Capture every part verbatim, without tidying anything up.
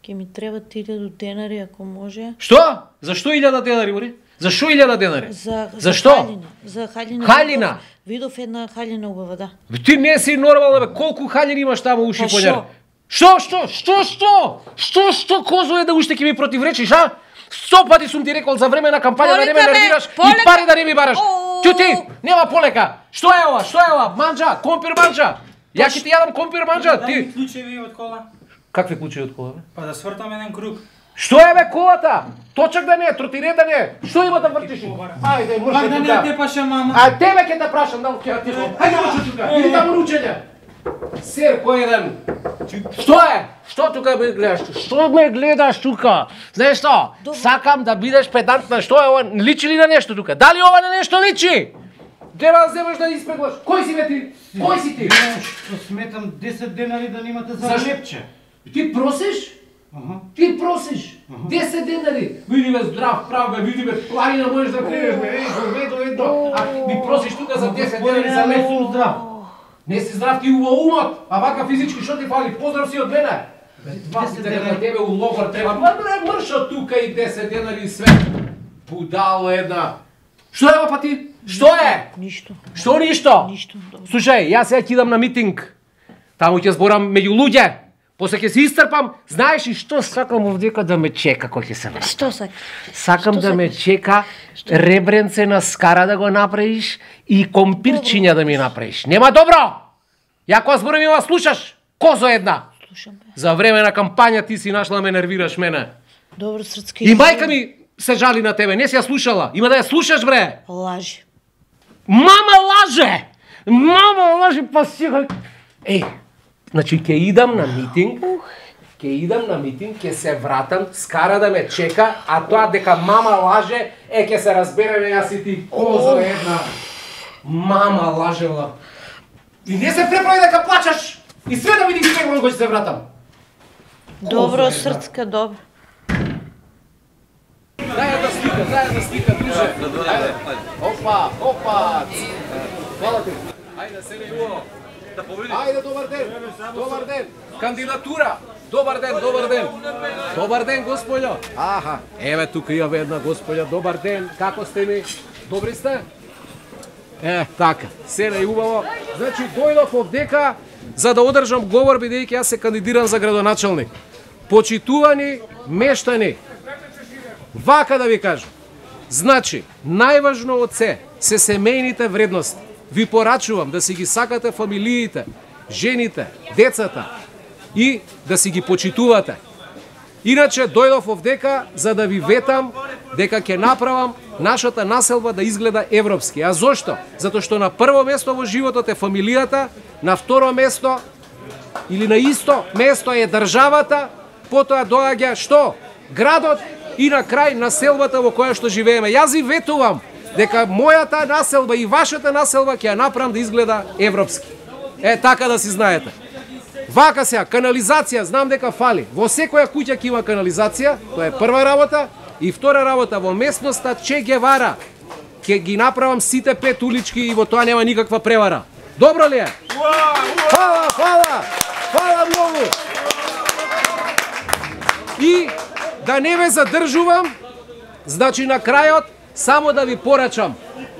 Ке ми требат илјаду денари ако може. Што? Зашто илјада денари, бори? Зашто илјада денари? За, за Зашто? халина. За халина. Халина? Видов, видов една халина убава, да. Ти не си нормална, бе. Колку халини имаш таму уши Па поњар? Што, што, што, што? Што, што, козо е да уште ќе ми противречиш, а? Сто пати сум ти рекол за време на кампања да не ме нервираш и пари да не ми бараш. Ќути, нема полека. Што е ова? Што е ова? Манџа, компир манџа. Ја ќе ти јадам компир манџа, ти. Клучеви од кола. Какви клучеви од кола, бе? Па да свртам еден круг. Што е бе колата? Точак да не е, тротинет да не е. Што има да вртиш? Ајде, мрше Пак да не тука. те паша мама. А тебе ќе те прашам, дал ќе ти. Ајде мрше тука. Иди таму на учење. Сер, кој еден? Што е? Што тука ме гледаш? Што ме гледаш тука? Знаеш што? Сакам да бидеш педантна. Што е ова? Личи ли на нешто тука? Дали ова на нешто личи? Треба да земеш да испеглаш. Кој си бе ти? Кој си ти? Што сметам десет денари да немате за лепче. Ти просиш? Аха. Ти просиш? десет денари. Види бе здрав прав бе, види бе планина можеш да кренеш бе. Еј, во ведо едно. А ми просиш тука за десет денари за леп. сум здрав. Не си здрав ти во умот, а вака физички што ти фали? Поздрав си од мене. десет денари на тебе у логор треба. Ма бре, мршо тука и десет денари све. Будало една. Што е па ти? Што е? Ништо. Што ништо? Ништо. Добро. Слушај, јас сега ќе идам на митинг. Таму ќе зборам меѓу луѓе. После ќе се истрпам, знаеш и што сакам овдека да ме чека кој ќе се врати. Што сак? Сакам Што да ме сакаш? чека ребренце на скара да го направиш и компирчиња да ми направиш. Нема добро! Ја кога зборам има слушаш, козо една. Слушам бе. За време на кампања ти си нашла ме нервираш мене. Добро срцки. И мајка ми се жали на тебе, не си ја слушала. Има да ја слушаш бре. Лажи. Мама лаже! Мама лаже, па сега... Еј, значи ќе идам на митинг, ќе идам на митинг, ќе се вратам, скара да ме чека, а тоа дека мама лаже, е ќе се разбереме јас и ти, козо една. Мама лажела. И не се преправи дека плачаш. И све да ми ги испегвам кога ќе се вратам. Добро срцка, добро. Дај да слика, дај да слика, друже. Ајде. Опа, опа. Фала ти. Ајде, се не јуо. Да победи. Ајде, добар ден. Добар ден. Кандидатура. Добар ден, добар ден. Добар ден, господјо. Аха, еве тука имаме една господја. Добар ден. Како сте ми? Добри сте? Е, така. Се не убаво. Значи дојдов овдека за да одржам говор бидејќи јас се кандидирам за градоначалник. Почитувани мештани. Вака да ви кажам. Значи, најважно од се се семејните вредности. Ви порачувам да си ги сакате фамилиите, жените, децата и да си ги почитувате. Иначе дојдов овдека за да ви ветам дека ќе направам нашата населба да изгледа европски. А зошто? Затоа што на прво место во животот е фамилијата, на второ место или на исто место е државата, потоа доаѓа што? Градот и на крај населбата во која што живееме. Јас ви ветувам дека мојата населба и вашата населба ќе ја направам да изгледа европски. Е, така да си знаете. Вака сега, канализација, знам дека фали. Во секоја куќа ќе има канализација, тоа е прва работа. И втора работа, во местноста Че Гевара ќе ги направам сите пет улички и во тоа нема никаква превара. Добро ли е? Фала, фала, фала многу. И да не ве задржувам, значи на крајот само да ви порачам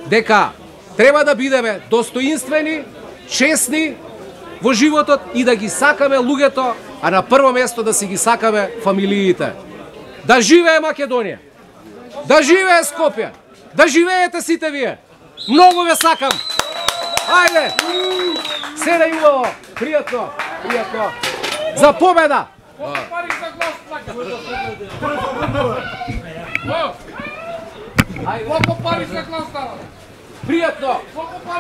дека треба да бидеме достоинствени, честни во животот и да ги сакаме луѓето, а на прво место да си ги сакаме фамилиите. Да живее Македонија! Да живее Скопје! Да живеете сите вие! Многу ве сакам! Ајде! Се да јубаво! Пријатно! Пријатно! За победа! Ајде! Колку пари за глас дава? Пријатно!